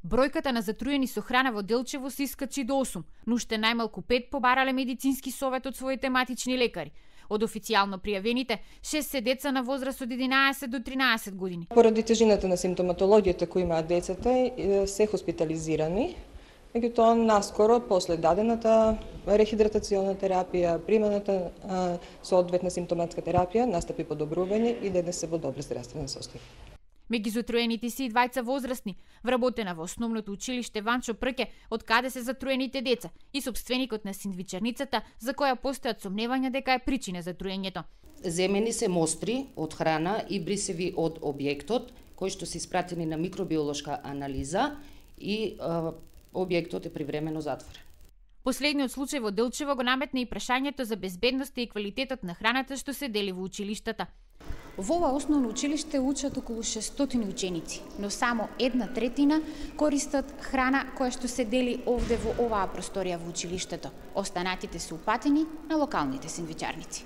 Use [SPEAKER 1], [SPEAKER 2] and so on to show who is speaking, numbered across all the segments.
[SPEAKER 1] Бројката на затруени со храна во Делчево се искачи до 8, но уште најмалку 5 побарале медицински совет од своите матични лекари. Од официјално пријавените, 6 се деца на возраст од 11 до 13 години.
[SPEAKER 2] Поради тежината на симптоматологијата кои имаат децата, се хоспитализирани. Меѓутоа, наскоро, после дадената рехидратациона терапија, приманата соодветна симптоматска терапија, настапи подобрување и денес се во добро здравствено состојание.
[SPEAKER 1] Меѓу затруените се и двајца возрастни, вработена во основното училиште Ванчо Прке, од каде се затруените деца, и сопственикот на сендвичарницата, за која постојат сомневања дека е причина за труењето.
[SPEAKER 3] Земени се мостри од храна и брисеви од објектот, кои што се испратени на микробиолошка анализа и објектот е привремено затворен.
[SPEAKER 1] Последниот случај во Делчево го наметна и прашањето за безбедноста и квалитетот на храната што се дели во училиштата.
[SPEAKER 4] Во ова основно училиште учат околу 600 ученици, но само 1/3 користат храна која што се дели овде во оваа просторија во училиштето. Останатите се упатени на локалните сендвичарници.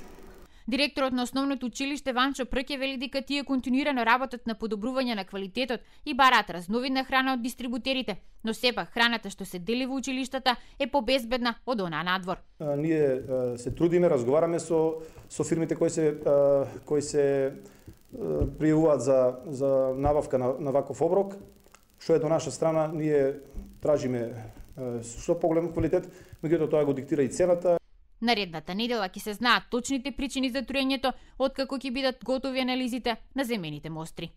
[SPEAKER 1] Директорот на основното училиште Ванчо Прке вели дека тие континуирано работат на подобрување на квалитетот и бараат разновидна храна од дистрибутерите, но сепак храната што се дели во училиштата е побезбедна од онаа надвор.
[SPEAKER 5] Ние се трудиме, разговараме со фирмите кои се пријавуваат за набавка на ваков оброк, што е до наша страна, ние тражиме што поголем квалитет, меѓутоа тоа го диктира и цената.
[SPEAKER 1] Наредната недела ќе се знаат точните причини за труењето, откако ќе бидат готови анализите на земените мостри.